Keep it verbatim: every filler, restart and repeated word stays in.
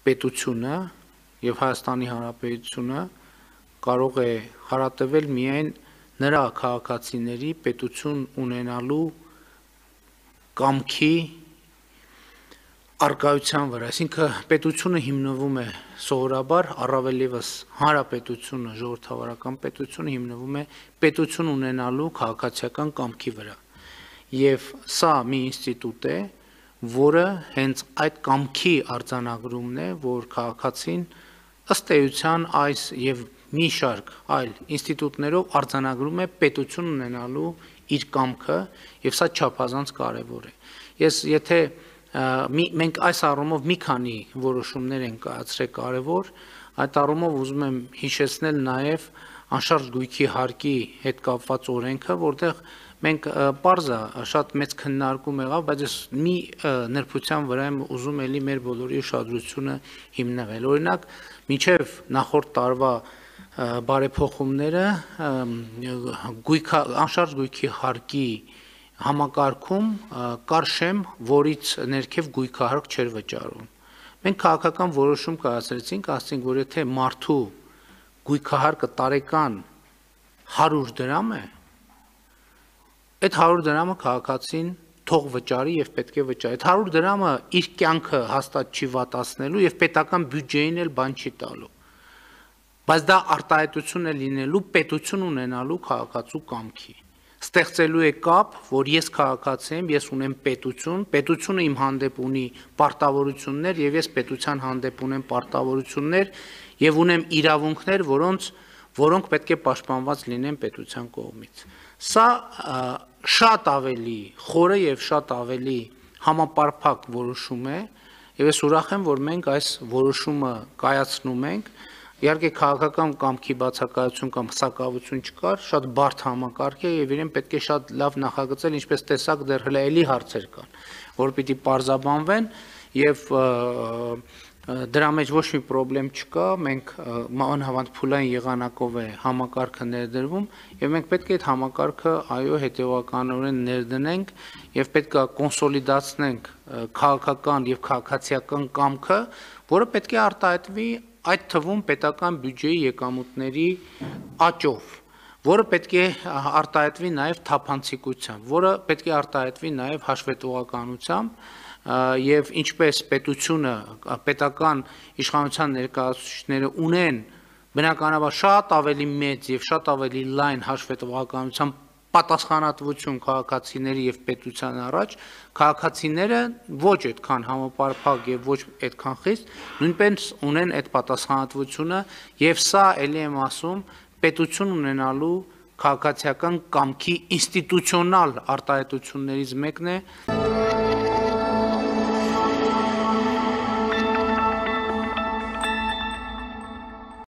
պետությունը եւ Հայաստանի Հանրապետությունը կարող է հարատևել միայն նրա քաղաքացիների պետություն ունենալու կամքի արկայության վրա, այսինքն պետությունը հիմնվում է սովորաբար առավել ևս հանրապետությունը, ժողովրդավարական պետությունը հիմնվում է պետություն ունենալու քաղաքացիական կամքի վրա։ Եվ սա մի ինստիտուտ է, որը հենց այդ կամքի արձանագրումն է, որ քաղաքացին ըստ էության այս եւ մի շարք այլ ինստիտուտներով արձանագրում է պետություն ունենալու իր կամքը, եւ սա չափազանց կարեւոր է։ Ես եթե մենք այս առումով մի քանի որոշումներ ենք կայացրել կարևոր, այդ առումով ուզում եմ հիշեցնել նաեւ անշարժ գույքի հարկի հետ կապված օրենքը, որտեղ մենք պարզ է շատ մեծ քննարկում եղավ, բայց ես մի նրբության վրա եմ ուզում էլի մեր բոլորի ուշադրությունը հիմնվել։ Օրինակ, մինչև նախորդ տարվա բարեփոխումները անշարժ գույքի հարկի համակարգում կար շեմ, որից ներքև գույքահարկ չէր վճարում։ Մենք քաղաքական որոշում կայացրեցինք, ասենք, որ եթե մարդու գույքահարկը տարեկան հարյուր դրամ է, այդ հարյուր դրամը քաղաքացին թող վճարի եւ պետք է վճարի։ Այդ հարյուր դրամը իր կյանքը հաստատ չի վատացնելու եւ պետական բյուջեին էլ բան չի տալու։ Բայց դա արտահայտություն է լինելու պետություն ունենալու քաղաքացու կամքի։ Ստեղծելու է կապ, որ ես քաղաքացի եմ, ես ունեմ պետություն, պետությունը իմ հանդեպ ունի պարտավորություններ եւ ես պետության հանդեպ ունեմ պարտավորություններ եւ ունեմ իրավունքներ, որոնց որոնք պետք է պաշտպանված լինեն պետության կողմից։ Սա շատ ավելի խորը եւ շատ ավելի համապարփակ որոշում է եւ ես ուրախ եմ, որ մենք այս որոշումը կայացնում ենք։ Իհարկե քաղաքական կամքի բացակայություն կամ սակավություն չկար, շատ բարդ համակարգ է եւ իրեն պետք է շատ լավ նախագծել, ինչպես տեսակ դեռ հələ էլի հարցեր կան, որ պիտի պարզաբանվեն եւ դրա մեջ ոչ մի խնդրեմ չկա, մենք անհավանդ փուլային եղանակով է համակարգը ներդրվում եւ մենք պետք է այդ համակարգը այո հետեւականորեն ներդնենք եւ պետք է կոնսոլիդացնենք քաղաքական եւ քաղաքացիական կամքը, որը պետք է արտահայտվի այդ թվում պետական բյուջեի եկամուտների աճով, որը պետք է արտահայտվի նաեւ թափանցիկությամբ, որը պետք է արտահայտվի նաեւ հաշվետվողականությամբ եւ ինչպես պետությունը պետական իշխանության ներկայացուցիչները ունեն բնականաբար շատ ավելի մեծ եւ շատ ավելի լայն հաշվետվողականությամբ պատասխանատվություն քաղաքացիների եւ պետության առաջ, քաղաքացիները ոչ այդքան համապարփակ եւ ոչ այդքան խիստ նույնպես ունեն այդ պատասխանատվությունը եւ սա ելի եմ ասում պետություն ունենալու քաղաքացիական կամքի ինստիտուցիոնալ արտահայտություններից մեկն է։